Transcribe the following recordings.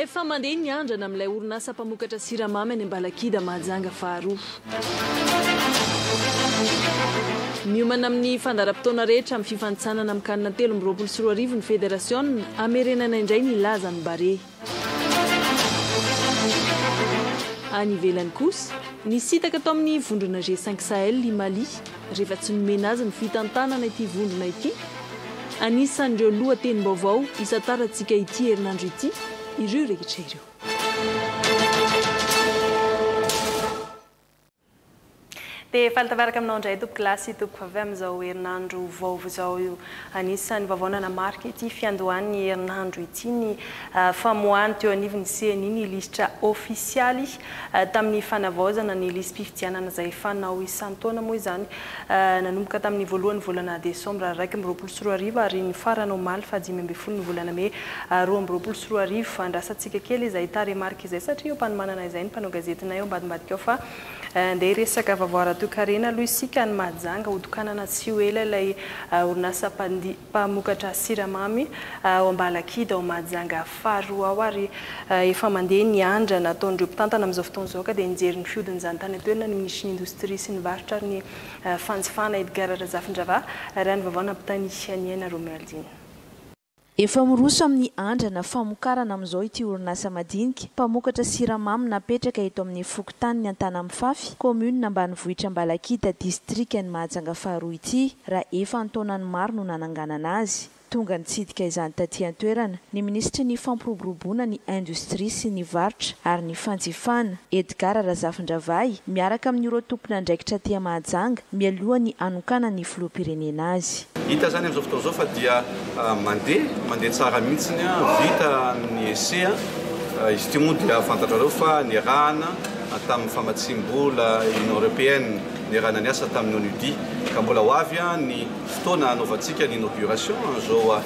Efa mandeha ny andrana amin'ilay orinasa mpamokatra siramamy any Ambalakida Mahajanga faharoa. Miomana amin'ny fandaharam-potoana rehetra amin'ny fifanintsanana amin'ny Can 2023 ny federasiona, hamerenana indray ny lazan'ny Barea. Any ivelany kosa, nisintaka tao amin'ny vondrona G5 Sahel i Mali rehefa tsy nomena azy ny fitantanana ity vondrona ity. Anisan'ireo lohatenim-baovao isantarantsika ity herinandro ity ireo rehetra ireo. Dia faly tafaraka aminao indray tompokolahy sy tompokovavy amin'izao herinandro vaovao izao io. Anisan'ny vaovao nanamarika ity fiandohan'ny herinandro ity ny famoahany teo anivon'ny ceni ny lisitra ofisialy tamin'ny fanavaozana ny lisi-pifidianana izay fanao isan-taona moa izany nanomboka tamin'ny voalohan'ny volana desambra 2021 ary nifarana omaly faha 15 ny volana mey 2022. Andrasantsika kely izay tarehimarika izay satria eo am-panomanana izay ny mpanao gazetinay ao ambadimbadika ao fa Andeha hiresaka vaovao ara-toekarena aloha isika any Mahajanga. Hotokanana tsy ho ela ilay orinasa mpamokatra siramamy ao Ambalakidy ao Mahajanga faharoa ao ary efa mandeha ny andrana ataon'ireo mpitantana amin'izao fotoana izao ka dia nijery ny fihodin'izany tany an-toerana ny minisitry ny Indostria sy ny Varotra ary ny Fanjifana Edgard Razafindravahy raha ny vaovao nampitain'i Niaina Romualdine. Efa miroso amin'ny andrana famokarana amin'izao ity orinasa madinika mpamokatra siramamy napetraka eto amin'ny fokontanin'i Antanamifafy, kaominina ambanivohitra Ambalakida, distrikan'i Mahajanga faharoa ity, raha efa an-taonany maro no nananganana azy. Tonga nitsidika izany taty an-toerana ny minisitry ny Fampiroboroboana ny Indostria sy ny Varotra ary ny Fanjifana, Edgard Razafindravahy, miaraka amin'ireo tompon'andraikitra aty Mahajanga, mialoha ny hanokanan'ny filoham-pirenena azy. Hita izany amin'izao fotoana izao fa dia mandeha, mandeha tsara mihitsy, vita ny essai. Izy ity moa dia fantatrareo fa niarahana tamin'ny famatsiam-bola Union Européenne, niarahana niasa tamin'ny ONUDI, ka mbola ho avy ny fotoana hanaovantsika ny inauguration an'izao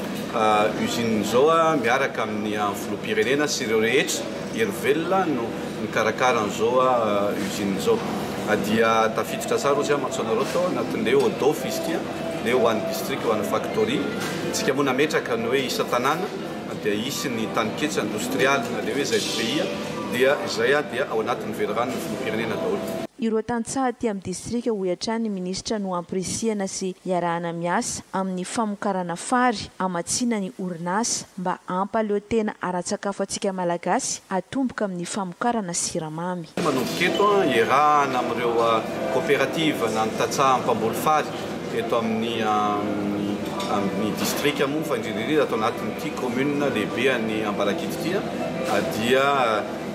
usine izao miaraka amin'ny filoham-pirenena sy ireo rehetra hery velona no nikarakara an'izao usine izao. Dia tafiditra tsara ozy aho mantso anareo tao anatin'ilay ODOF izy ity, ilay ho an'ny district, ho an'ny factory. Tsika moa nametraka ny hoe isan-tanàna dia hisy ny taninketsa indostrialy na ilay hoe ZPI dia izay dia ao anatin'ny veliranon'ny filoham-pirenena daholo. Ireo tantsaha aty amin'ny distrika hoy hatrany ny minisitra no ampirisihana sy iarahana miasa amin'ny famokarana fary hamatsiana ny orinasa mba hampaleo tena ara-tsakafo antsika Malagasy atomboka amin'ny famokarana siramamy. Manomboka eto, iarahana amin'ireo koperativa na ny tantsaha mpamboly fary eto amin'ny amin'ny distrika moa fa indrindra indrindra ato anatin'ity commune lehibe an'i Ambalakidy ity dia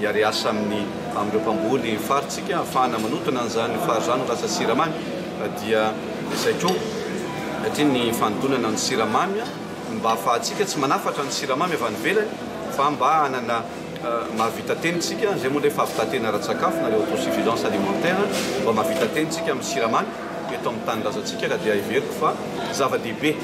hiara-hiasa amin'ny amin'ireo mpamboly fary tsika ahafahana manotona an'izany fary izany ho lasa siramamy dia izay koa satria ny fanodonana ny siramamy mba ahafahantsika tsy manafatra ny siramamy avy any ivelany fa mba hanana mahavita tena isika, izay moa ilay fahavitan-tena ara-tsakafo na ilay autosuffisance alimentaire, mba mahavita tena isika amin'ny siramamy eto amin'ny tanindrazantsika ka dia heveriko fa zava-dehibe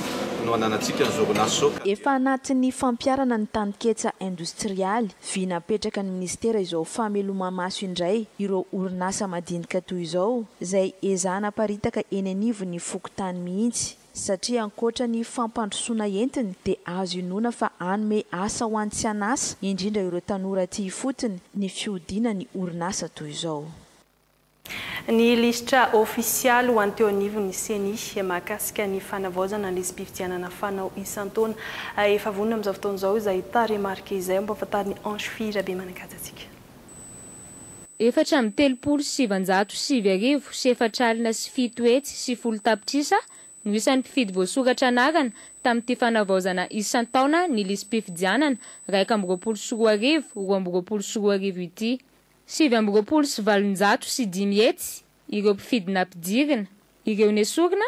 no ananantsika an'izao orinasa izao ka dia. Efa anatin'ny fampiharana ny taninketsa indostrialy, vina apetraka ny minisitera izao fameloma-maso indray ireo orinasa madinika toy izao, izay ezahana aparitaka eny anivon'ny fokontany mihitsy. Satria ankoatra ny fampandrosoana entiny dia azo inoana fa hanome asa ho an'ny tsy an'asa, indrindra ireo tanora aty ifotony, ny fihodinan'ny orinasa toy izao. Ny lisitra ofisialy ho an'ny teo anivon'ny Ceni mahakasika ny fanavaozana ny lisi-pifidianana fanao isan-taona. Efa vonona amin'izao fotoana izao izay tarehimarika izay ampahafantarin'i Ange Fy Rabemanankaja antsika. 1934 sy 10 tapitrisa no isan'ny mpifidy voasoratra anarana tamin'ity fanavaozana isan-taona ny lisi-pifidianana 2021 2022 ity. 829 ireo mpifidy nampidirina, ireo nesorina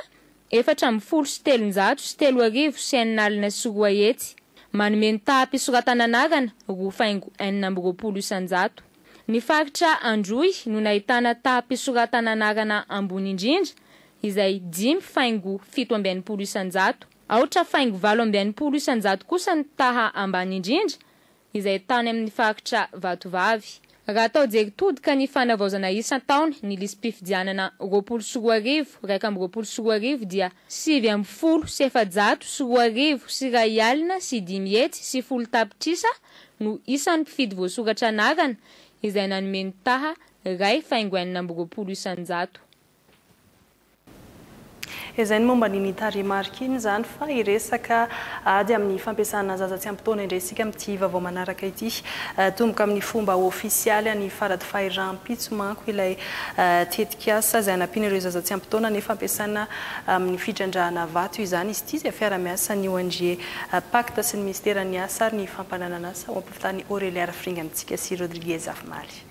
314 660. Manome ny taham-pisoratana anarana 2,26%. Ny faritra Androy no nahitana taham-pisoratana anarana ambony indrindra izay 5,67%. Aotra faingo 68% kosa ny taha ambany indrindra izay tany amin'ny faritra Vatovavy. Raha atao jery todika ny fanavaozana isan-taona ny lisi-pifidianana 2020, 2021 dia 2119 tapitrisa no isan'ny mpifidy voasoratra anarana izay nanome ny taha 1,26%. Izay ny momba ny tarehimarika iny izany fa hiresaka ady amin'ny fampiasana zaza tsy ampy taona indray isika amin'ity vaovao manaraka ity. Tomboka amin'ny fomba ofisialy any Faradofay rahampitso manko ilay tetikasa izay hanampiana ireo zaza tsy ampy taona ny fampiasana amin'ny fitrandrahana vato izany. Izy ity izay fiara-miasan'ny ONG Pacte sy ny minisiteran'ny asa ary ny fampananan'asa ho ampivitany Aurélia Rafiringa amintsika sy Rodriguez Afimaly.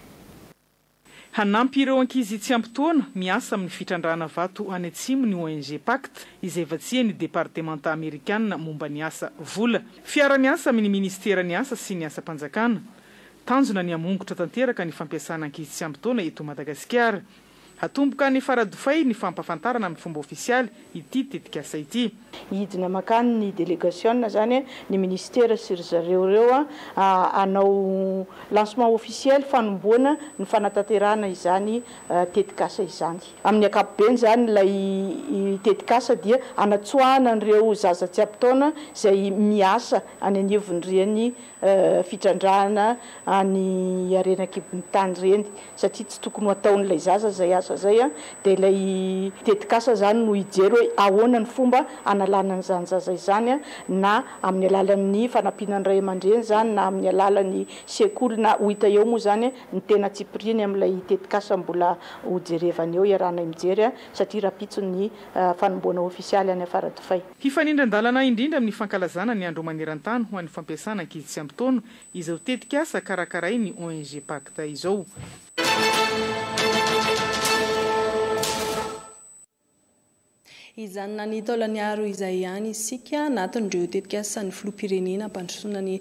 Hanampy ireo ankizy tsy ampy taona miasa amin'ny fitrandrahana vato any atsimo ny ONG Pacte, izay vatsian'ny departemanta amerikanina momba ny asa vola. Fiara-miasa amin'ny minisiteran'ny asa sy ny asam-panjakana. Tanjona ny hamongotra tanteraka ny fampiasana ankizy tsy ampy taona eto Madagasikara. Hatomboka any Faradofay ny fampahafantarana amin'ny fomba ofisialy ity tetikasa ity. Hidina mankany ny delegasiona izany ny minisitera sy ry zareo ireo hanao lancement officiel fanombohana ny fanatanterahana izany tetikasa izany. Amin'ny ankapobeny izany ilay tetikasa dia hanatsoahana an'ireo zaza tsy ampy taona izay miasa any anivon'ireny fitrandrahana any harena an-kibon'ny tany ireny satria tsy tokony ho ataon'ilay zaza izay asa izay dia ilay tetikasa izany no hijery hoe ahoana ny fomba hanalana an'izany zaza izany na amin'ny alalan'ny fanampiana ny ray aman-dreny izany na amin'ny alalan'ny sekoly na ho hita eo moa izany ny tena tsipiriany amin'ilay tetikasa mbola hojerevana eo iarahanay mijery satria rahampitso ny fanombohana ofisialy any Faradofay. Hifanindran-dalana indrindra amin'ny fankalazana ny Andro maneran-tany ho an'ny fampiasana ankizy tsy ampy taona izao tetikasa karakarain'ny ONG Pacte izao. Hijanona any Taolagnaro izay ihany isika, anatin'ireo tetikasan'ny filoham-pirenena hampandrosoana ny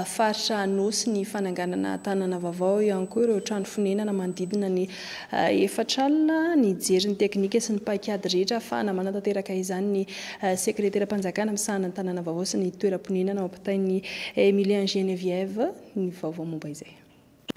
faritra Anôsy ny fananganana tanàna vaovao, eo ihany koa ireo trano fonenana manodidina ny 40 nijery ny teknika sy ny paikady rehetra ahafahana manatanteraka izany ny sekreteram-panjakana misahana ny tanàna vaovao sy ny toeram-ponenana ao ampitain'i Emilien Geneviève ny vaovao momba izay.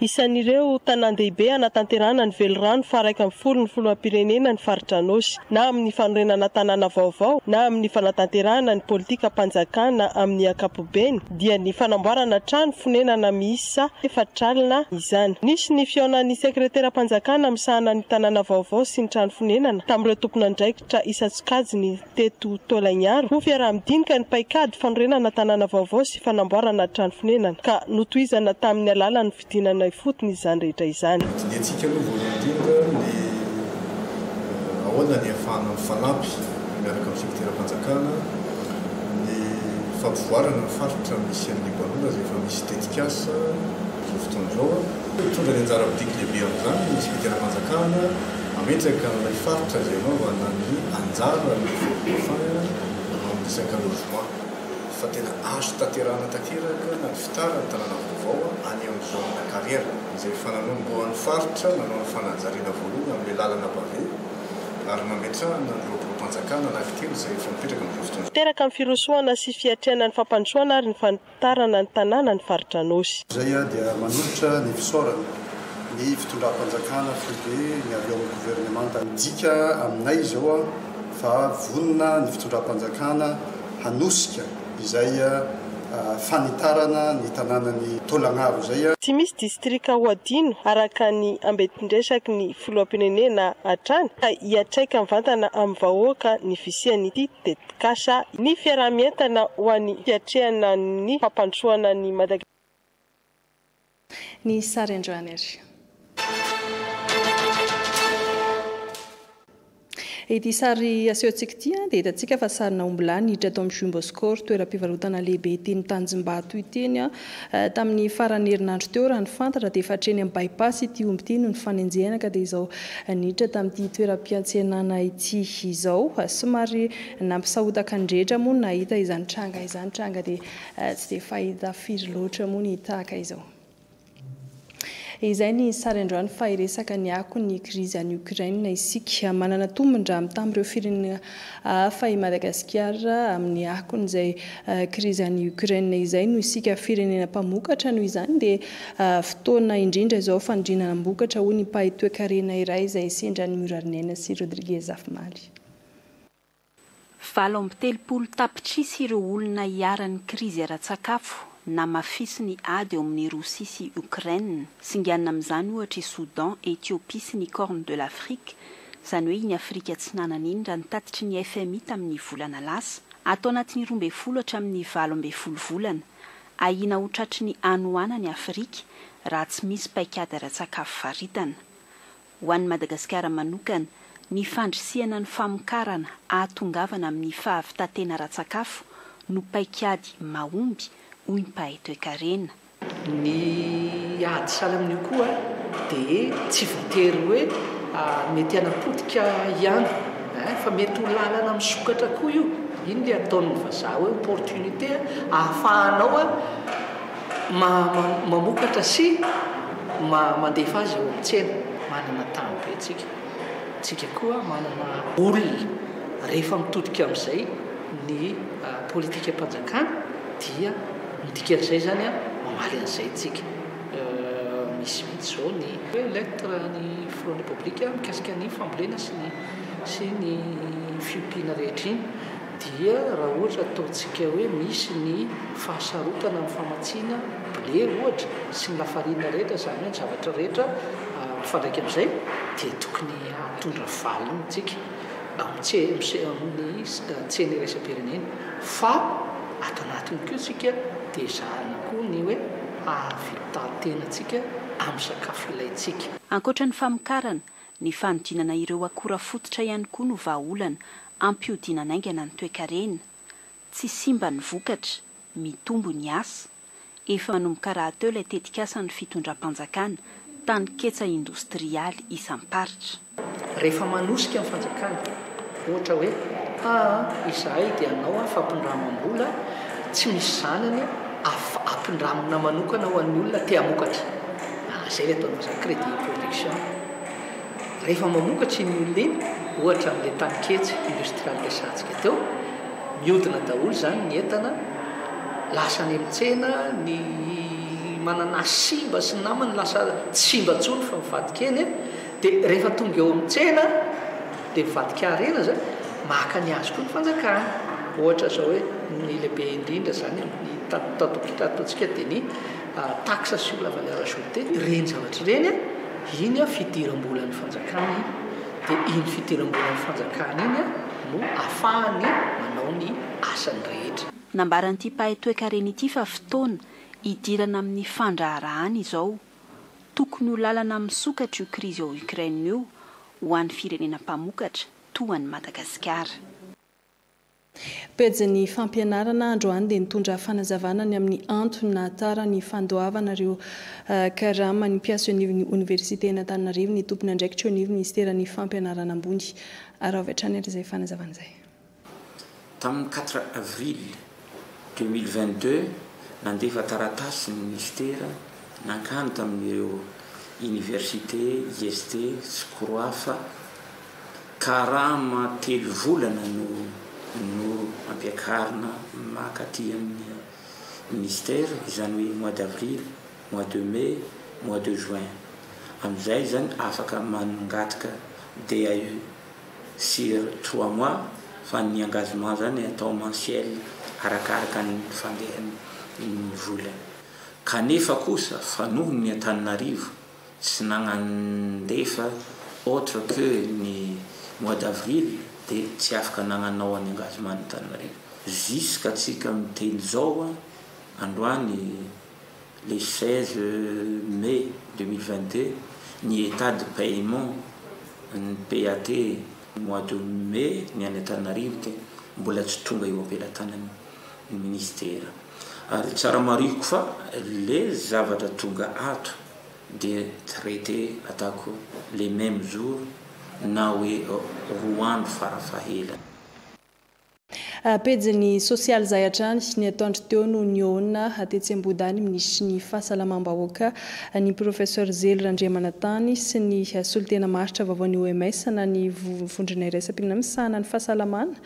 Isan'ireo tanàn-dehibe hanatanterahana ny velirano faha 11 ny filoham-pirenena ny faritra Anôsy, na amin'ny fanorenana tanàna vaovao na amin'ny fanatanterahana ny politikam-panjakana amin'ny ankapobeny dia ny fanamboarana trano fonenana miisa 40 izany. Nisy ny fihaonan'ny sekreteram-panjakana misahana ny tanàna vaovao sy ny trano fonenana tamin'ireo tompon'andraikitra isan-tsokajiny teto Taolagnaro ho fiaraha-midinika ny paikady fanorenana tanàna vaovao sy fanamboarana trano fonenana ka notohizana tamin'ny alalan'ny fidinana ifotony izany rehetra izany. Hodinihantsika aloha voalohany indrindra ny ahoana ny ahafahana mifanampy miaraka amin'ny sekteram-panjakana ny fampivoarana ny faritra misy an'i Libanona izay efa misy tetikasa amin'izao fotoana izao. Hitondra ny anjara biriky lehibe amin'izany ny sekteram-panjakana hametraka an'ilay faritra izay hanaovana ny anjaran'ny Fort Dauphin amin'ny resaka logement fa tena azo tanterahana tanteraka na ny fitaran'ny tanàna vaovao any amin'ny zone carrière izay efa nanombohan'ny faritra nanao ny fanajariana voalohany amin'ilay lalana pavé ary nametrahana an'ireo biraom-panjakana anankitelo izay efa mipetraka amin'izao fotoana izao. Teraka amin'ny firosoana sy fiatrehana ny fampandrosoana ary ny Tarana ny tanàna ny faritra Anôsy. Izay dia manolotra ny fisaorana ny fitondram-panjakana foibe ny avy ao amin'ny governemanta. Midika aminay izao fa vonona ny fitondram-panjakana hanosika izay fanitarana ny tanànan'i Taolagnaro izay. Tsy misy distrika ho adino araka ny ambetindresaky ny filoham-pirenena hatrany ka hiantraika mivantana amin'ny vahoaka ny fisian'ity tetikasa ny fiaraha-mientana ho an'ny fiatrehana ny fampandrosoana an'i Madagasikara. Ny sary androany ary. Ity sary asehontsika ity dia hitantsika fa sarina ombilahy niditra tao amin'ny Jumbo Score, toeram-pivarotana lehibe teny Tanjombato ity tamin'ny faran'ny herinandro teo. Raha ny fantatra dia efa hatreny amin'ny bypass ity omby ity no nifanenjehana ka dia izao niditra tamin'ity toeram-piantsenana ity izao. Somary nampisahotaka ny rehetra moa ny nahita izany tranga izany, tranga dia tsy dia fahita firy loatra moa ny tahaka izao. Izay ny sary androany fa hiresaka ny akon'ny krizy any Ukraine isika. Manana tombon-draha mitamin'ireo firenena hafa i Madagasikara amin'ny akon'izay krizy any Ukraine izay noho isika firenena mpamokatra. Noho izany dia fotoana indrindra izao fanodinanam-bokatra hoy ny mpahay toekarena iray izay sendra an'i Miorariniaina sy Rodriguez Zafimaly. 38 tapitrisa ireo olona iharan'ny krizy ara-tsakafo namafisin'ny ady eo amin'i Rosia sy Ukraine. Singanina amin'izany ohatra i Soudan, Ethiopie sy ny Corne de l'Afrique, izany hoe iny Afrika Atsinanana iny raha ny tatitry ny FMI tamin'ny volana lasa. Ato anatin'ny 12 hatramin'ny 18 volana, ahiana ho tratry ny hanoanana i Afrika raha tsy misy paikady ara-tsakafo faritana. Ho an'i Madagasikara manokana, ny fandrisihana ny famokarana ahatongavana amin'ny fahavitan-tena ara-tsakafo no paikady mahomby, hoy ny mpahay toekarena. Ny ady sahala amin'io koa dia tsy voatery hoe mety hanapotika ihany fa mety ho lalana misokatra koa io. Iny ilay ataon'ny vazaha hoe opportunité ahafahanao Mamokatra sy mandefa azy eo amin'ny tsena. Manana tany be tsika. Tsika koa manana olona. Rehefa mitodika amin'izay ny politikam-panjakana dia ny dikan'izay izany mamaly an'izay tsika. Misy mihitsy izao ny lettre ny filohan'ny Repoblika mikasika ny fambolena sy ny sy ny fiompiana rehetra iny. Dia raha ohatra ataontsika hoe misy ny fahasarotana amin'ny famatsiana blé ohatra sy ny lafarina rehetra, izany hoe ny zavatra rehetra mifandraika amin'izay dia tokony hahatondra valiny isika amin'ny tsena iraisam-pirenena. Fa ato anatiny koa isika dia ezahana koa ny hoe hahavita-tena antsika amin'ny sakafo ilaintsika. Ankoatra ny famokarana, Ny fanodinana ireo akora fototra ihany koa no vahaolana hampihodinana haingana ny toekarena. Tsy simba ny vokatra, mitombo ny asa. Efa manomboka rahateo ilay tetikasan'ny fitondram-panjakana, taninketsa indostrialy isam-paritra. Rehefa manosika ny fanjakana, ohatra hoe, aa izahay dia hanao fampindramam-bola tsy misy zanany ampindramina manokana ho an'ny olona te hamokatra. Izay ilay ataon'ny vazaha crédit production. Rehefa mamokatra iny olona iny, ohatra amin'ilay taninketsa industrialy resahantsika teo, mihodina daholo izany ny entana, lasa any amin'ny tsena, ny mananasy simba sy ny namany lasa tsy simba intsony fa mivadika eny, dia rehefa tonga eo amin'ny tsena dia mivadika harena izany, maka ny azy koa ny fanjakana. Ohatra izao hoe ny lehibe indrindra izany amin'ny tato-tato-tatontsika dia ny taxe sur la valeur ajoutée, ireny zavatra ireny, iny fidiram-bolan'ny fanjakana iny, dia iny fidiram-bolan'ny fanjakana iny no ahafahany manao ny asany rehetra. Nambaran'ity mpahay toekarena ity fa fotoana hidirana amin'ny fandraharahana izao. Tokony ho lalana misokatra io krizy ao Ukraine io ho an'ny firenena mpamokatra toa an'i Madagasikara. Pejin'ny fampianarana androany dia nitondra fanazavana ny amin'ny antony nahatara ny fandoavana ireo karaman'ny mpiasa eo anivon'ny oniversiten'Antananarivo ny tompon'andraikitra eo anivon'ny minisiteran'ny fampianarana ambony. Araho avy hatrany ary izay fanazavana izay. Tamin'ny quatre avril 2022, nandefa taratasy ny minisitera nankany tamin'ireo oniversite, IST sy Croaf, Karama telo volana no no ampiakarina maka aty amin'ny ministère, izany hoe mois d'avril, mois de mai, mois de juin. Amin'izay izany afaka mangataka DAE sur trois mois fa ny engagement zany atao mensuel arakaraka ny fandehan'ny vola. Kanefa kosa fa noho ny Antananarivo tsy nagnandefa autre que ny mois d'avril de tsy afaka nagnanao any engagement Antananarivo jusqu'à tsika miteny zao androany le 16 mai 2022 ny etat de paiement ny PAT mois de mai ny any Antananarivo de mbola tsy tonga eo ampelatanany ny ministera ary tsara marihiko fa le zavatra tonga ato dia traité ataoko le même jour na hoe roa andro farafahelany. Pejiny sosialy izay hatrany, ny atoandro teo no nihaona tetsy Ambohidahy ny minisitry ny Fahasalamam-bahoaka, ny Professeur Zely Randriamanantany sy ny solontena maharitra vaovaon'ny OMS na ny Vondrona iraisam-pirenena misahana ny fahasalamana,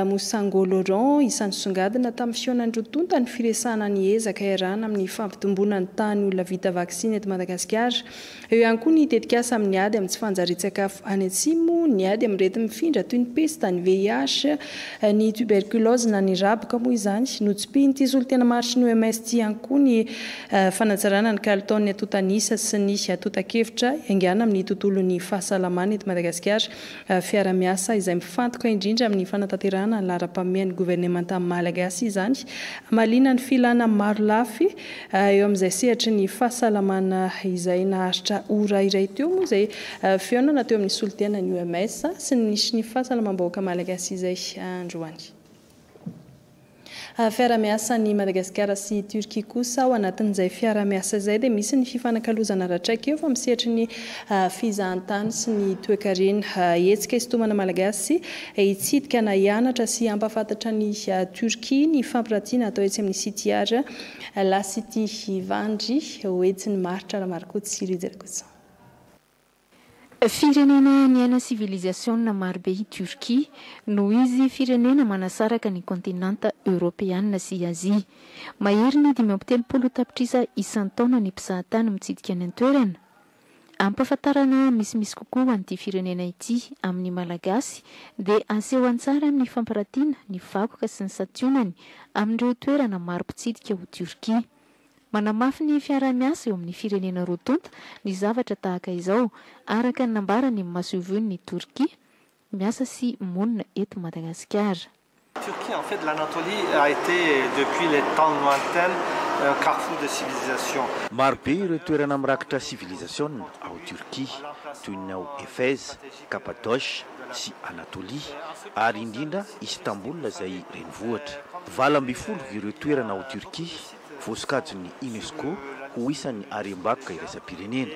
Mosango Laurent. Isan'ny songadina tamin'ny fihaonan'ny roa tonta ny firesahana ny ezaka iarahana amin'ny fampitomboana ny tahan'ny olona vita vaksiny eto Madagasikara. Eo ihany koa ny tetikasa amin'ny ady amin'ny tsy fanjarian-tsakafo any atsimo, ny ady amin'ny areti-mifindra toy ny pesta, ny VIH, ny tuberculose na ny raboka moa izany. Notsipihin'ity solontena maharitry ny OMS ity ihany koa ny fanatsarana ny kalitaon'ny antontan'isa sy ny antontan-kevitra iaingàna amin'ny tontolon'ny fahasalamana eto Madagasikara. Fiara-miasa izay mifantoka indrindra amin'ny fanatanterahana ny laharam-pahamehan'ny governemanta malagasy izany, hamaliana ny filana marolafy eo amin'izay sehatry ny fahasalamana izay. Naharitra ora iray teo moa izay fihaonana teo amin'ny solontenan'ny OMS sy ny minisitry ny fahasalamam-bahoaka malagasy izay androany. Fiara-miasan'i Madagasikara sy Turquie kosa ao anatin'izay fiara-miasa izay dia misy ny fifanakalozana ara-traikefa amin'ny sehatry ny fizahantany sy ny toekarena. Hetsika hisintomana Malagasy hitsidika na hianatra sy hampahafantatra an'i Turquie ny fampiratiana atao etsy amin'ny City Art La City Ivandry ho etsin'i Maritra Ramarikoto sy Rija Rakotoson. Firenena niaina sivilizasiona marobe i Turquie, noho izy firenena manasaraka ny kontinanta Eoropeana sy Azia. Maherin'ny 35 tapitrisa isan-taona ny mpizahatany mitsidika any an-toerana. Ampahafantarana misimisy kokoa an'ity firenena ity amin'ny Malagasy dia aseho an-tsary amin'ny fampiratiana ny vakoka sy ny santionany amin'ireo toerana maro mpitsidika ao Turquie. Manamafy ny fiaraha-miasa eo amin'ny firenena roa tonta ny zavatra tahaka izao, araka ny nambaran'ny masoivohon'i Torkia miasa sy monina eto Madagasikara. Turquie en fait l'Anatolie a été depuis les temps lointains un carrefour de civilisation. Marobe ireo toerana mirakitra sivilizasiona ao Turquie, toy ny ao Éphèse, Cappadoce sy Anatolie, ary indrindra Istanbul izay renivohitra. 18 ireo toerana ao Turquie voasokajin'ny Unesco ho isan'ny harem-bakoka iraisam-pirenena.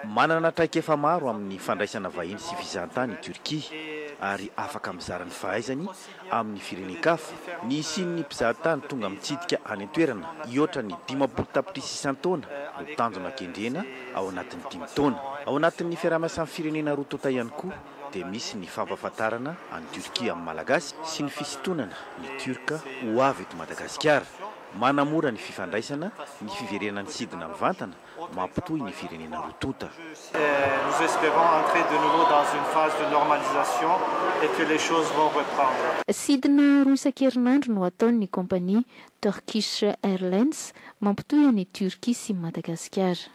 Manana traikefa maro amin'ny fandraisana vahiny sy fizahantany i Turquie ary afaka mizara ny fahaizany amin'ny firenen-kafa. Ny hisian'ny mpizahatany tonga mitsidika any an-toerana hihoatra ny 50 tapitrisa isan-taona no tanjona kendrena ao anatin'ny dimy taona. Ao anatin'ny fiaraha-miasan'ny firenena roa tonta ihany koa dia misy ny fampahafantarana an'i Turquie amin'ny Malagasy sy ny fisintonana ny Turc ho avy eto Madagasikara. Manamora ny fifandraisana, ny fiverenan'ny sidina mivantana mampitohy ny firenena roa tonta. Nous espérons entrer de nouveau dans une phase de normalisation et que les choses vont reprendre. Sidina roa isan-kerinandro no ataon'ny kaompania Turkish Airlines mampitohy an'i Turquie sy Madagasikara.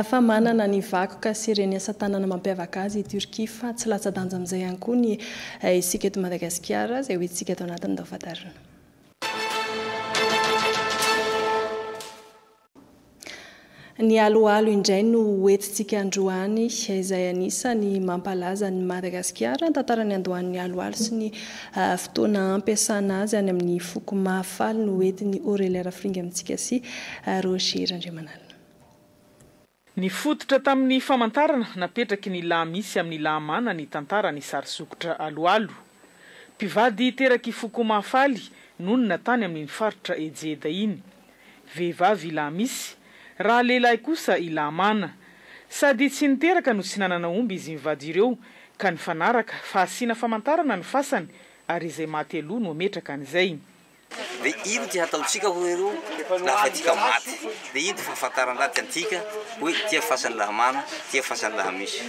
Fa manana ny vakoka sy ireny asa tanana mampiavaka azy i Turquie fa tsy latsa-danja amin'izay ihany koa ny isika eto Madagasikara izay ho hitantsika ato anatin'ny Taofantarina. Ny aloalo indray no hoentintsika androany izay anisan'ny mampalaza an'i Madagasikara. Ny tantaran'ny andohan'ny aloalo sy ny fotoana ampiasana azy any amin'ny foko Mahafaly no hoentin'i Aurélia Rafiringa amintsika sy Roger Randriamanalina. Nifototra tamin'ny famantarana napetraky ny Lahamisy amin'ny Lahamana ny tantaran'ny sary sokitra Aloalo. Mpivady terak'i Foko Mahafaly nonina tany amin'iny faritra Ejeda iny. Vehivavy i Lahamisy, raha lehilahy kosa i Lahamana. Sady tsy niteraka no tsy nanana omby izy mivady ireo ka nifanaraka fa asiana famantarana ny fasany ary izay maty aloha no hametraka an'izay. De ino ty hataontsika hoy ireo lafa tika maty? De ino ty fahafantaran-draty antika hoe tia fasan'i Lahamana, tia fasan'i Lahamisy?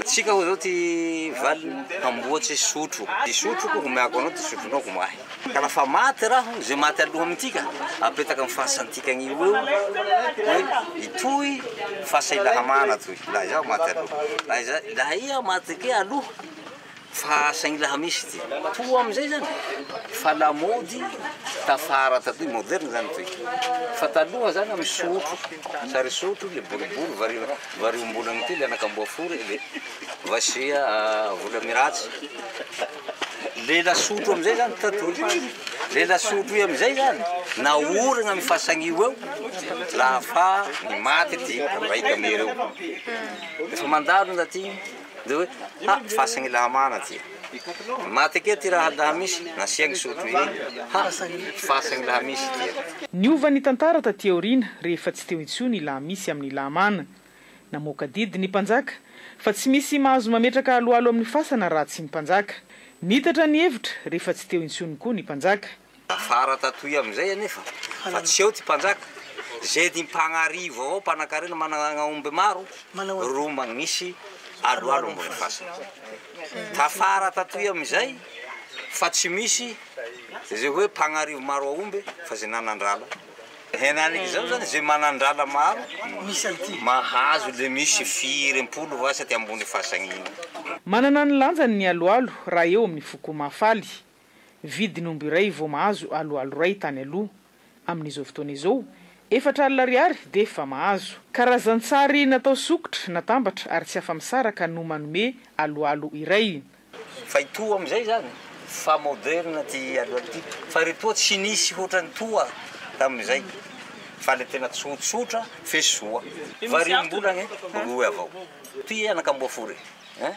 Tsika hoy zao ty valiny, hamboatse sotro, ty sotroko homeako anao, ty sotronao homahy. Ka lafa maty raho, ze maty aloha amintika, apetaka amy fasantika agnio eo hoe itoy fasa i Lahamana toy, laha izaho maty aloha, laha iza, laha iha maty kea aloha, Fa saingy laha misy ty. Toa amizay zany fa lamaody tafara tatoy, moderne zany toy. Fa taloha zany amy sotro, sary sotro le boribory vary variombolagny ty le anak'amboafory le vasia volamiratsy. Le lasotro amizay zany tatoy. Le lasotro io amizay zany naorigna amy fasagn'io eo laha fa nimaty ty raiky amireo. Efa mandalo ndaty igny. Dia hoe, ha, fasan'i Lahamana ty. Maty ake ty raha lahamisy, nasiagny sotro igny. Ha! Fasagny lahamisy ty. Niova ny tantara taty aoriana rehefa tsy teo intsony i Lahamisy amin'ny Lahamana. Namoaka didy ny mpanjaka fa tsy misy mahazo mametraka aloalo amin'ny fasana raha tsy ny mpanjaka. Niitatra ny hevitra rehefa tsy teo intsony koa ny mpanjaka. Tafara tatoy amizay anefa fa tsy eo ty mpanjaka, ze ty mpagnarivo avao mpanakarena managna aomby maro ro magnisy aloalo ambony fasana. Tafara tatoy amizay fa tsy misy ze hoe mpagnarivo maro aomby fa ze nanandrala. Henaniky zao zany ze manandrala maro mahazo le misy firempolo vasa ty ambony fasagna igny. Manana ny lanjany ny aloalo raha eo amin'ny foko Mahafaly. Vidin'omby iray vao mahazo aloalo iray tany aloha. Amin'izao fotoana izao, 40 ariary dia efa mahazo. Karazan-tsary natao sokitra, natambatra ary tsy afa-misaraka no manome aloalo iray. Fa itoa amin'izay izany fa moderne ty aloalo ty fa retoa tsy nisy hoatran'ny toa tamin'izay fa le tena tsotsotra fe soa. Varimbolagny roe avao. Ty anak'amboafory. Hein?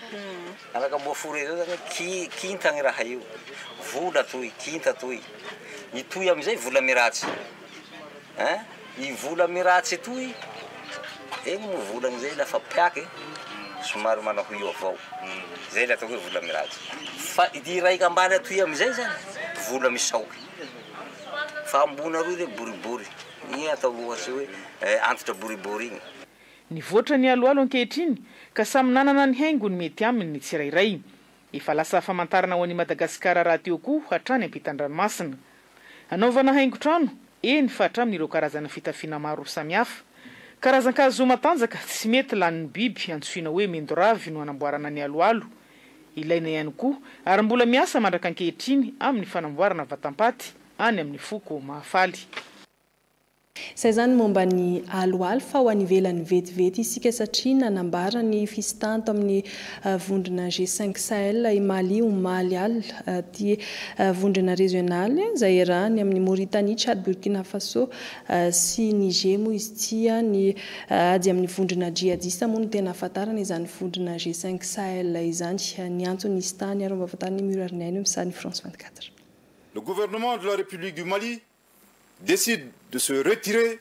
Anak'amboafory zao zany ki, kinta gny raha io. Vola toy, kinta toy. Itoy amizay vola miratsy. Hein? I vola miratsy toy, egny moa volagny zay lafa piaky, somary manao ho io avao. Zay le atao hoe vola miratsy. Fa ity raiky ambany atoy amizay zany, vola misaoky. Fa ambony aroy re boribory. Igny atao ohatsy hoe antitra boribory igny. Nivoatra ny aloalo ankehitriny ka samy nanana ny haingony mety aminy ny tsirairay. Efa lasa famantarana ho an'i Madagasikara rahateo koa hatrany ampitan-dranomasina. Anaovana haingon-trano, eny fa hatramin'ireo karazana fitafiana maro samihafa. Karazan-kazo matanjaka tsy mety lanin'ny biby antsoina hoe mendoravy no anamboarana ny aloalo. Ilaina ihany koa ary mbola miasa mandrak'ankehitriny amin'ny fanamboarana vatam-paty any amin'ny foko Mahafaly. Izay izany momba ny aloalo fa ho any ivelany vetivety isika satria nanambara ny fisintahany tao amin'ny vondrona G5 Sahel i Mali omaly alina. Ity vondrona rezionaly izay iarahany amin'i Mauritanie, Tchad, Burkina Faso sy Niger moa izy ity. Ny ady amin'ny vondrona djihadista moa no tena ahafantarana izany vondrona G5 Sahel izany. Ny antony nisintahany ary mba fantarin'i Murarinaina eo amin'ny sarin'i France 24. Le gouvernement de la République du Mali décide de se retirer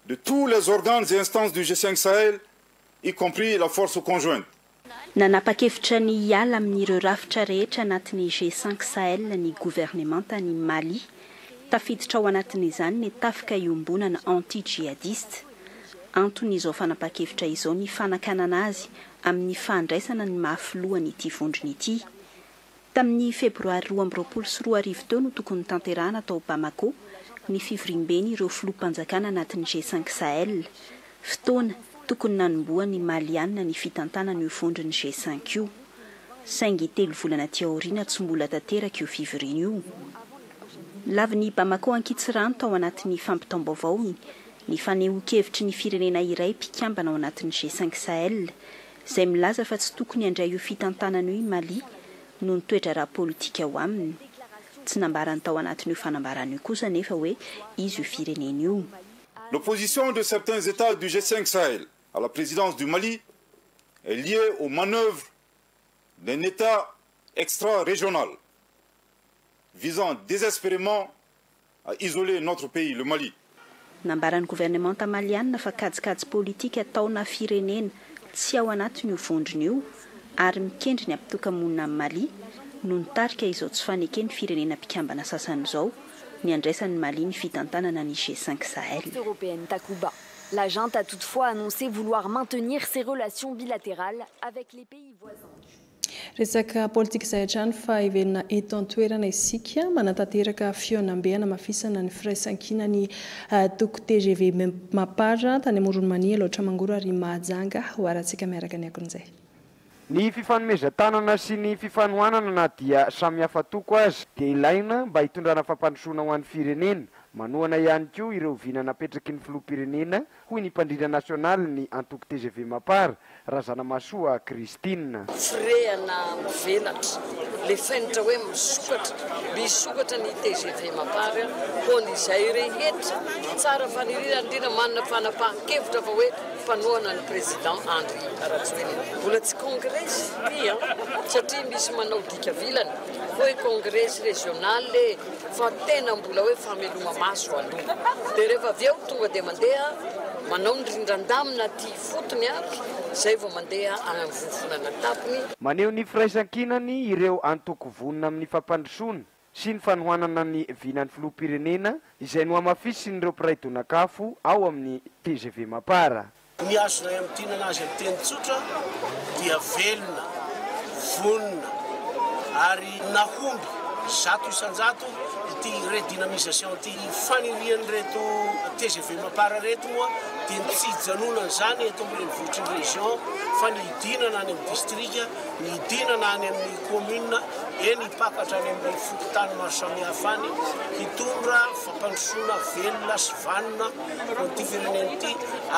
de tous les organes et instances du G5 Sahel, y compris la force conjointe. Nanapa-kevitra ny hiala amin'ireo rafitra rehetra anatin'ny G5 Sahel ny governemantan'i Mali. Tafiditra ao anatin'izany ny tafika iombonana anti-djihadiste. Anton'izao fanapahan-kevitra izao ny fanakanana azy amin'ny fandraisana ny maha filohan'ity vondrona ity. Tamin'ny febroary 2022 teo no tokony notanterahana tao Bamako ny fivoriamben'ireo filoham-panjakana anatin'ny G5 Sahel. Fotoana tokony nanombohan'ny Maliana ny fitantanana io vondron'ny G5 io. Saingy telo volana aty aoriana tsy mbola tanteraka io fivoriana io. Lavin'i Bamako ankitsirano tao anatin'ny fampitam-baovaony ny fanehoan-kevitry ny firenena iray mpikambana ao anatin'ny G5 Sahel izay milaza fa tsy tokony handray io fitantanana io i Mali noho ny toe-draharaha politika ao aminy. Tsy nambarany tao anatin'io fanambarana io kosa anefa hoe iza io firenena io. L'opposition de certains États du G5 Sahel à la présidence du Mali est liée aux manœuvres d'un État extra-régional visant désespérément à isoler notre pays, le Mali. Nambaran'ny governemanta malianina fa kajikajy politika ataona firenena tsy ao anatin'io vondrona io ary mikendry ny hampitoka-monina amin'i Mali no nitarika izao tsy faneken'ny firenena mpikambana sasany izao ny handraisan'i Mali ny fitantanana ny G5 Sahel. Européenne Takuba. La junte a toutefois annoncé vouloir maintenir ses relations bilatérales avec les pays voisins. Resaka politika izay hatrany fa heverina eto an-toerana isika manatanteraka fihaonambe hanamafisana ny firaisankina ny toko TGV Mapar tany Amoron'i Mania, Alaotra Mangoro ary Mahajanga. Ho harantsika miaraka ny akon'izay. Ny fifanomezan-tanana sy ny fifanohanana na dia samy hafa toko aza dia ilaina mba hitondrana fampandrosoana ho an'ny firenena. Manohana ihany koa ireo vina napetraky ny filoham-pirenena hoy ny mpandrindra nasionalin'ny antoko tgv Mapar, Razanamahasoa Christine. Firehana mivelatra, le fenitra hoe misokatra, misokatra ny tgv Mapar ho an'izay rehetra tsara faniriana indrindra manana fanapahan-kevitra fa hoe mpanohana ny Président Andry Rajoelina. Mbola tsy kongresy ity an, satria misy manao dika vilana hoe kongresy régional e, fa tena mbola hoe fameloma-maso aloha. Dia rehefa avy eo tonga dia mandeha manao ny rindran-damina aty ifotony ary izay vao mandeha any amin'ny vovonana tampony. Maneho ny firaisankinany ireo antoko vonona amin'ny fampandrosoana sy ny fanohanana ny vinan'ny filoham-pirenena izay nohamafisin'ireo mpiray donak'afo ao amin'ny tgv Mapar. Ny azonay amintinana azy amin'ny teny tsotra dia velona, vonona ary nahomby 100% ity redynamisation ity. Ny fanirian'ireto tgv Mapar ireto moa dia ny tsy hijanonan'izany eto amin'ny renivohitry ny région fa ny hidinana any amin'ny distrika, ny hidinana any amin'ny commune, eny hipaka hatrany amin'ny fokontany maro samihafa any, hitondra fampandrosoana velona sy vanona ho an'ity firenena ity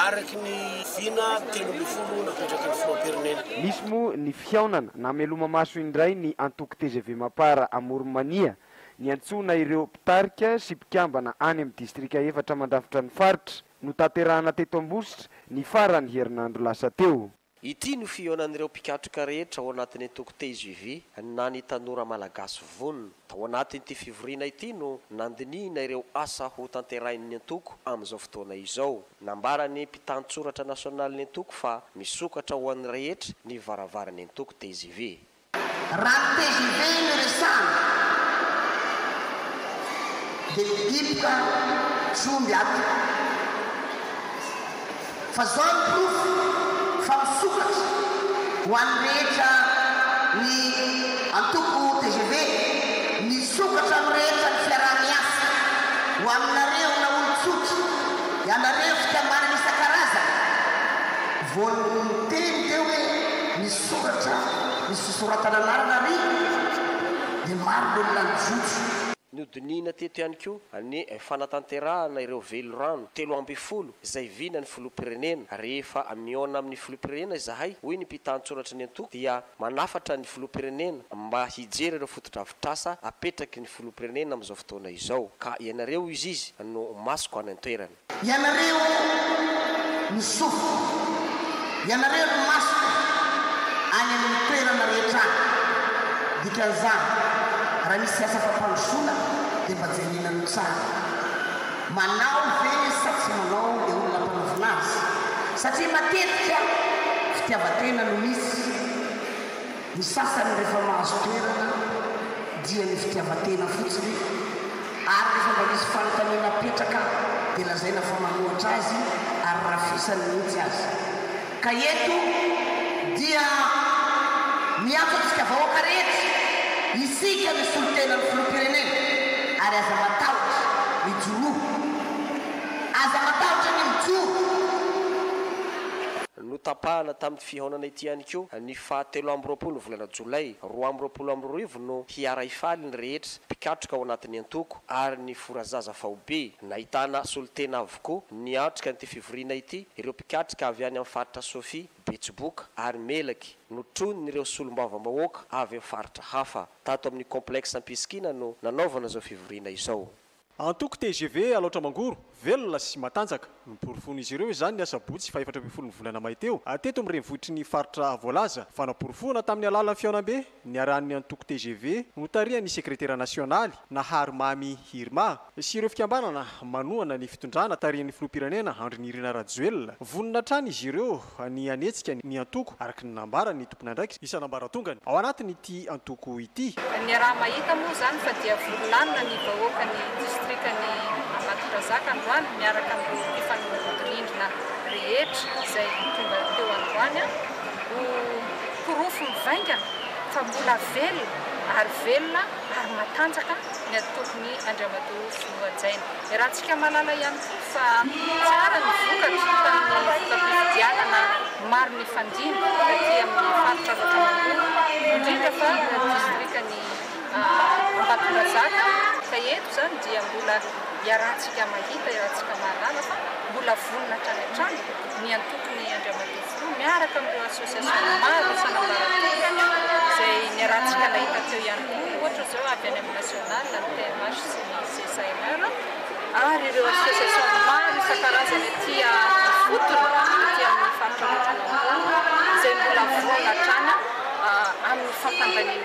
araka ny vina 13 napetraky ny filoham-pirenena. Nisy moa ny fihaonana nameloma-maso indray ny antoko tgv Mapar Amoron'i Mania, niantsoana ireo mpitarika sy mpikambana any amin'ny distrika efatra mandrafitra ny faritra, notanterahana teto Ambositra ny faran'ny herinandro lasa teo. Ity no fihaonan'ireo mpikatroka rehetra ao anatin'ny antoko tgv na ny Tanora Malagasy Vonona. Tao anatin'ity fivoriana ity no nandinihina ireo asa ho tanterahin'ny antoko amin'izao fotoana izao. Nambaran'ny mpitantsoratra nasionalin'ny antoko fa misokatra ho an'ny rehetra ny varavaran'ny antoko tgv. Raha ny tgv no resahana dia mihiboka tsy omby ato. Fa zao ny porofo fa misokatra ho an'ny rehetra ny antoko tgv, misokatra amin'ny rehetra ny fiaraha-miasa ho aminareo na olon-tsotra, ianareo fikambanana isan-karazany. Vao niteny teo hoe misoratra misy fisoratana anarana ary dia maro ny olona nijotso. Nodinihina teto ihany koa ny fanatanterahana ireo velirano 13 izay vinan'ny filoham-pirenena. Rehefa mihaona amin'ny filoham-pirenena izahay, hoy ny mpitantsoratry ny antoko, dia manafatra ny filoham-pirenena mba hijery ireo fotodrafitrasa apetraky ny filoham-pirenena amin'izao fotoana izao. Ka ianareo, hoy izy, no masoko any an-toerana. Ianareo no sofiko, ianareo no masoko any amin'ny toerana rehetra any. Dikan'izany, raha misy asa fampandrosoana dia mba jerenareo tsara. Manao ve sa tsy manao ilay olona ampanaovina azy? Satria matetika fitiavan-tena no misy. Ny sasany rehefa mahazo toerana dia ny fitiavan-tena fotsiny ary rehefa mba misy fanontaniana apetraka dia lazaina fa manohatra azy ary rafisany mihitsy aza. Ka eto dia miantso antsika vahoaka rehetra, isika no solontenan'ny filoham-pirenena ary aza matahotra, mijoroa. Aza matahotra ny mijoro. Notapahana tamin'ity fihaonana ity ihany koa ny faha 23 volana jolay 2022 no hiara-hifaly ny rehetra mpikatroka ao anatin'ny antoko ary ny forazaza faobe. Nahitana solontena avokoa niatrika an'ity fivoriana ity ireo mpikatroka avy any amin'ny faritra Sofia, Betsiboka ary Melaky, notronin'ireo solombavambahoaka avy amin'ny faritra hafa. Tato amin'ny Complexe Ampisikina no nanaovana izao fivoriana izao. Antoko tgv Alaotra Mangoro, velona sy matanjaka. Noporofoin'izy ireo izany ny asabotsy faha-14 ny volana may teo, teto amin'ny renivohitry ny faritra voalaza. Fanaporofoana tamin'ny alalan'ny fihaonambe niarahan'ny antoko tgv notarihan'ny sekretera nasionaly, Nahary Mamy Irma, sy ireo fikambanana manohana ny fitondrana tarihin'ny filoham-pirenena Andry Nirina Rajoelina. Vonona hatrany izy ireo ny hanetsika ny antoko, araka ny nambaran'ny tompon'andraikitra isan'ambaratongany ao anatin'ity antoko ity. Niaraha-mahita moa izany fa dia vory-lanona ny vahoakan'ny distrikan'i Ambatondrazaka androany miaraka amin'ireo mpifanolo-bodirindrina rehetra izay tonga teo androany ho porofo mivaingana fa mbola velona ary velona ary matanjaka ny antokon'i Andriamatoa Filoha Hajaina. Iarahantsika mahalala ihany koa fa tsara ny vokatra tamin'ny voka-pifidianana maro nifandimby taty amin'ny faritra Alaotra Mangoro, indrindra fa distrikan'i Ambatondrazaka, ka eto izany dia mbola iarahantsika mahita, iarahantsika mahalala fa mbola vonona hatrany hatrany ny antokon'i Andriamatoa Filoha miaraka amin'ireo association maro isan'ambaratongany izay niarahantsika nahita teo ihany koa, ohatra izao avy any amin'ny national, ny TMH sy ny CSAMR. ary ireo association maro isan-karazany aty ifotony, aty amin'ny.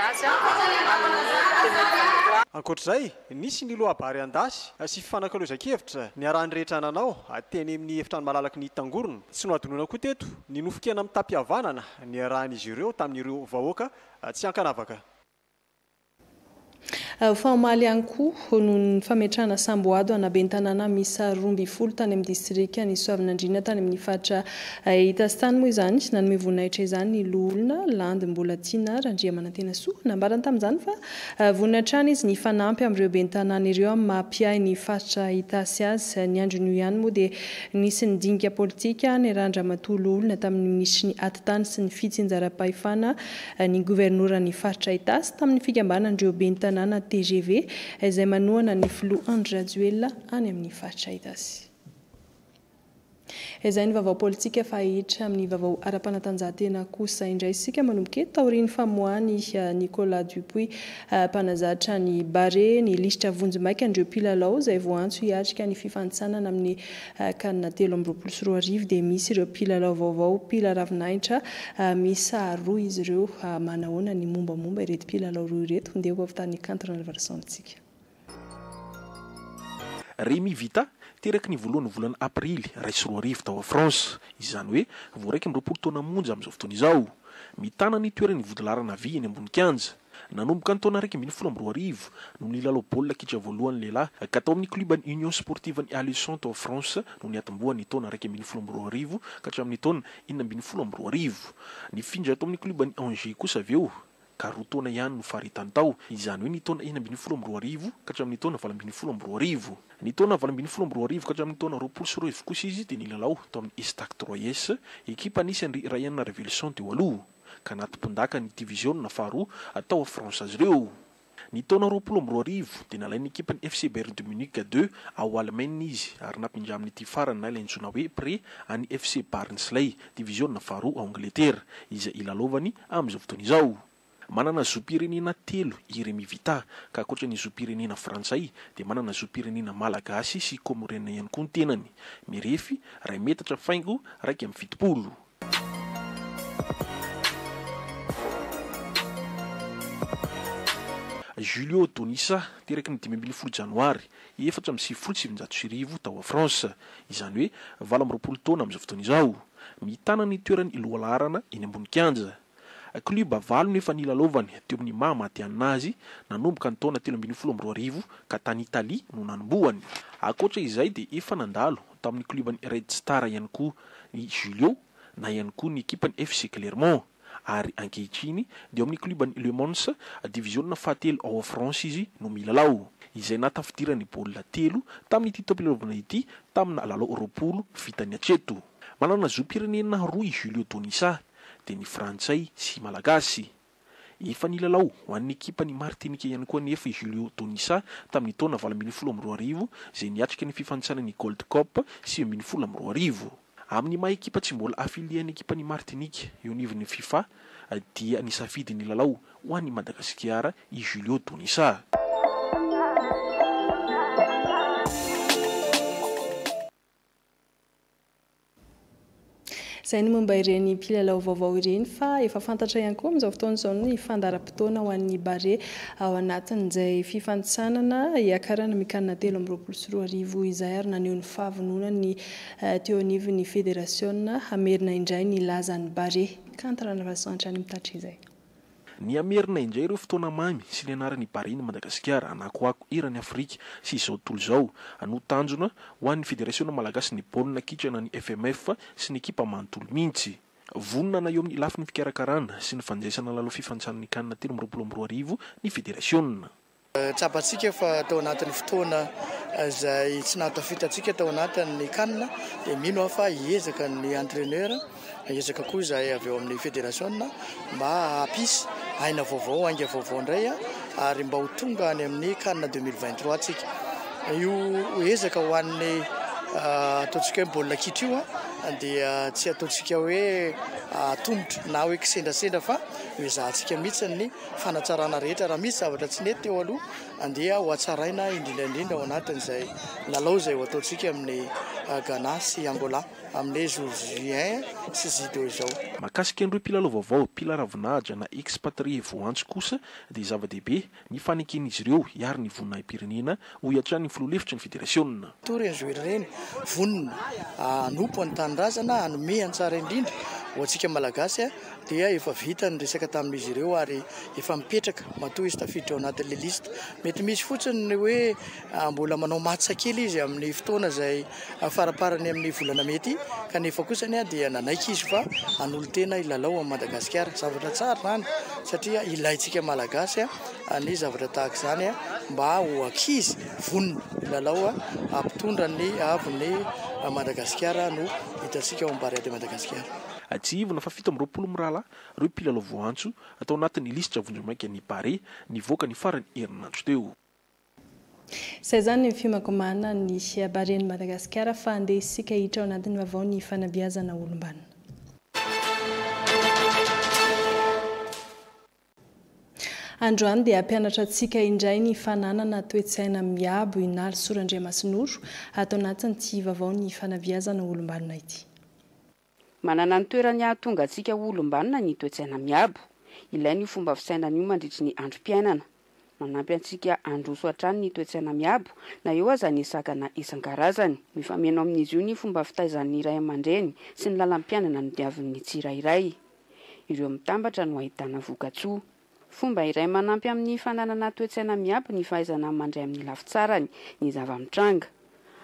azy amin'ny 2023. Ankoatra izay, nisy ny loabary an-dasy sy fifanakalozan-kevitra niarahan'ny rehetra nanao teny amin'ny efitrano malalaky ny Tangorona. Tsy nohadinoina koa teto ny nofon-kena mitam-pihavanana niarahan'izy ireo tamin'ireo vahoaka tsy ankanavaka. Fa omaly ihany koa noho ny fametrahana samboady ho ana ben'ny tanàna miisa 12 tany amin'ny distrikan'i Soavinandriana tany amin'ny faritra Itasy tany moa izany. Nanome voninahitra izany ny loholona Landy Mbolatiana Randriamanantenasoa. Nambarany tamin'izany fa vonona hatrany izy ny hifanampy amin'ireo ben'ny tanàna ireo amin'ny maha mpiahy ny faritra Itasy azy. Ny andron'io ihany moa dia nisy ny dinika politika niarahan-dRamatoa loholona tamin'ny minisitry ny Atitany sy ny fitsinjaram-pahefana ny governoran'ny faritra Itasy tamin'ny fikambanan'ireo ben'ny tanàna tgv izay manohana ny filoha Andry Rajoelina any amin'ny faritra Itasy. Izay ny vaovao politika fa hiditra amin'ny vaovao ara-panatanjahantena kosa indray isika manomboka eto taorian'ny famoahan'i Nicolas Dupuis mpanazatra ny Barea ny lisitra vonjimaika an'ireo mpilalao izay voaantso hiatrika ny fifanintsanana amin'ny Can 2023 dia misy ireo mpilalao vaovao mpila ravinahitra miisa roa izy ireo. Manahoana ny mombamomba ireto mpilalao roa ireto? Ndeha ho avy tany Kanto Ranavalison amintsika. Rémy Vita, teraky ny voalohan'ny volana aprily 2001 tao France, izany hoe vao 21 taona monja amin'izao fotoana izao. Mitana ny toeran'ny vodilaharana havia eny ambony kianja. Nanomboka ny taona 2011 no nilalao baolina kitra voalohany lehilahy ka tao amin'ny klioban'ny Union Sportive-n'i Alençon tao France no niatombohany ny taona 2011 ka hatramin'ny taona 2016. Nifindra tao amin'ny klioban'i Angers kosa avy eo ka roa taona ihany no faharetany tao, izany hoe ny taona 2016 ka hatramin'ny taona 2018. Ny taona 2018 ka hatramin'ny taona 2020 kosa izy dia nilalao tao amin'ny Estac Troyes, ekipa nisy an-dry Rayan Raveloson teo aloha. ka natompondaka ny diviziona faharoa tao France azy ireo. Ny taona 2020 dia nalain'ny ekipan'ny FC Bayern de Munich ii ao Alemaina izy ary nampindramin'ity farany na ilay antsoina hoe prêt an'ny FC Barnsley, diviziona faharoa ao Angletera, izay ilalaovany amin'izao fotoana izao. Manana zom-pirenena telo i Rémy Vita, ka ankoatra ny zom-pirenena frantsay dia manana zom-pirenena malagasy sy kômôriana ihany koa ny tenany. Mirefy iray metatra faingo 71. Julio Donisa, teraky ny 15 janoary 1994 tao France, izany hoe 28 taona amin'izao fotoana izao. Mitana ny toerany lohalaharana eny ambony kianja. Klioba valo no efa nilalaovany teo amin'ny maha matihanina azy nanomboka ny taona 2013 ka tany Italia no nanombohany. Ankoatra izay dia efa nandalo tamin'ny klioban'ny Red Star ihany koa i Julio na ihany koa ny ekipan'ny FC Clermont ary ankehitriny dia ao amin'ny klioban'ny Le Mans, diviziona fahatelo ao France izy no milalao, izay nahatafidirany baolina telo tamin'ity taom-pilalaovana ity tamina lalao 20 vitany hatreto. Manana zom-pirenena roa i Julio Donisa, dia ny frantsay sy malagasy. Efa nilalao ho an'ny ekipan'i Martinika ihany koa anefa i Julio Donisa tamin'ny taona 2018 izay niatrika ny fifanintsanan'ny Gold Cup 2019. Amin'ny maha ekipa tsy mbola affilié ny ekipan'i Martinika eo anivon'ny Fifa dia nisafidy ny lalao ho an'i Madagasikara i Julio Donisa. Izay ny momba ireny mpilalao vaovao ireny fa efa fantatra ihany koa amin'izao fotoana izao ny fandaharam-potoana ho an'ny Barea ao anatin'izay fifanintsanana hiakarana amin'ny CAN 2023 izay ary naneho ny fahavononany ny teo anivon'ny federasiona hamerina indray ny lazan'ny Barea. Kanto Ranavason hatrany mitatitra izay. Ny hamerina indray ireo fotoana mamy sy ny anaran'i Bahrain Madagasikara hanakoako eran'i Afrika sy izao tontolo izao no tanjona ho an'ny Federasiona Malagasy ny baolina kitra na ny FMF sy ny ekipa manontolo mihitsy. Vonona na eo amin'ny lafiny fikarakarana sy ny fandraisana lalao fifanintsanan'ny Can 2023 ny Federasiona. Tsapantsika fa tao anatin'ny fotoana izay tsy nahatafita antsika tao anatin'ny CAN dia mino aho fa hiezaka ny entraîneur, hiezaka koa izahay avy eo amin'ny federasiona mba hampisy aina vaovao, ainga vaovao indray ary mba ho tonga any amin'ny CAN 2023 tsika. Io ezaka ho an'ny ataontsika hoe baolina kitra io dia tsy ataontsika hoe atomotra na hoe kisendrasendra fa ho ezahantsika mihitsy ny fanatsarana rehetra. Raha misy zavatra tsy nety teo aloha andeha ho hatsaraina indrindra indrindra ao anatin'izay lalao izay ho ataontsika amin'ny Ghana sy Angola amin'ny jour J1 sy J2 izao. Mahakasika an'ireo mpilalao vaovao, mpila ravinahitra na expatrié voantso kosa dia zava-dehibe ny faneken'izy ireo hiaro ny voninahi-pirenena, hoy hatrany ny filoha lefitry ny federasiona. Toa ireny joueur ireny, vonona hanompo ny tanindrazana, hanome ny tsara indrindra ho antsika Malagasy dia efa vita ny resaka tamin'izy ireo ary efa mipetraka matoa izy tafiditra ao anatin'ilay liste. Mety misy fotsiny ny hoe mbola manao match kely izy amin'ny fotoana izay faraparany amin'ny volana mey ity kanefa kosany dia nanaiky izy fa hanolo-tena hilalao amin'i Madagasikara. Zavatra tsara izany satria ilaintsika Malagasy ny zavatra tahaka izany mba ho ankizy vonona hilalao hampitondra ny haavon'i Madagasikara no hitantsika ao amin'ny Barea de Madagasikara. Tsiahivina fa 27 mirahalahy ireo mpilalao voaantso tao anatin'ny lisitra vonjimaika ny Barea nivoaka ny faran'ny herinandro teo. Izay izany ny fiomankomana ny Barean'i Madagasikara fa andeha isika hiditra ao anatin'ny vaovao ny fanabeazana olom-banona. Androany dia hampianatra antsika indray ny fananana toe-tsaina miabo i Nalisoa Randriamasinoro ato anatin'ity vaovao ny fanabeazana olom-banona ity. Manana ny toerany hahatonga antsika ho olom-banona ny toe-tsaina miabo. Ilaina io fomba fisainana io mandritry ny androm-piainana. Manampy antsika handroso hatrany ny toe-tsaina miabo, na eo aza ny sakana isan-karazany. Mifameno amin'izy io ny fomba fitaizan'ny ray aman-dreny sy ny lalam-piainana nodiavin'ny tsirairay. Ireo mitambatra no ahitana vokatsoa. Fomba iray manampy amin'ny fananana toe-tsaina miabo ny fahaizana mandray amin'ny lafitsarany ny zava-mitranga.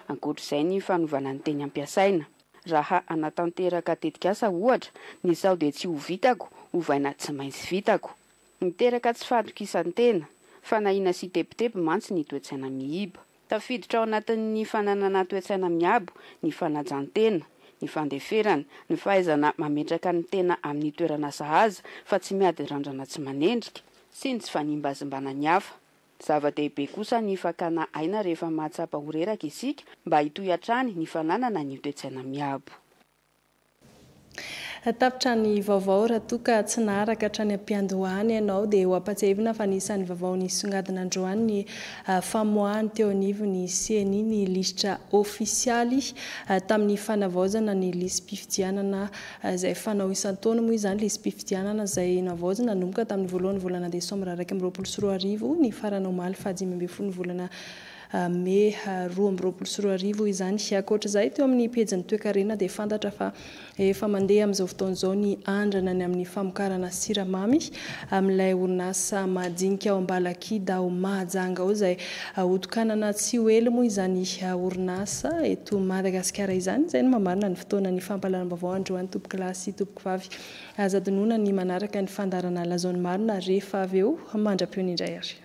Ankoatra izay ny fanovana ny teny ampiasaina. Raha hanatanteraka tetikasa ohatra, ny sao dia tsy ho vitako, ovaina tsy maintsy vitako. Miteraka tsy fahatokisan-tena, fanahiana sy tebiteby mantsy ny toe-tsaina miiba. Tafiditra ao anatin'ny fananana toe-tsaina miabo ny fanajan-tena, ny fandeferana, ny fahaizana mametraka ny tena amin'ny toerana sahaza fa tsy miady randrana tsy manendrika, sy ny tsy fanimbazimbana ny hafa. Zava-dehibe kosa ny fakana aina rehefa mahatsapa ho reraka isika mba hitohy hatrany ny fananana ny toe-tsaina miabo. Tapitra ny vaovao raha toa ka tsy naharaka hatrany am-piandohana ianao dia ho ampatsiahivina fa anisan'ny vaovao nisongadina androany ny famoahany teo anivon'ny ceni ny lisitra ofisialy tamin'ny fanavaozana ny lisi-pifidianana izay fanao isan-taona moa izany lisi-pifidianana izay navaozina nanomboka tamin'ny voalohan'ny volana desambra 2021 nifarana omaly faha 15 ny volana Mey 2022 izany. Ankoatra izay, teo amin'ny pejin'ny toekarena dia fantatra fa efa mandeha amin'izao fotoana izao ny andrana ny amin'ny famokarana siramamy amin'ilay orinasa madinika ao Ambalakida ao Mahajanga ao izay hotokanana tsy ho ela moa izany orinasa eto Madagasikara izany. Izay no mamarana ny fotoana ny fampahalalam-baovao androany tompokolahy sy tompokovavy. Aza adinoina ny manaraka ny fandaharana Lazao ny marina rehefa avy eo mandra-pihaona indray ary.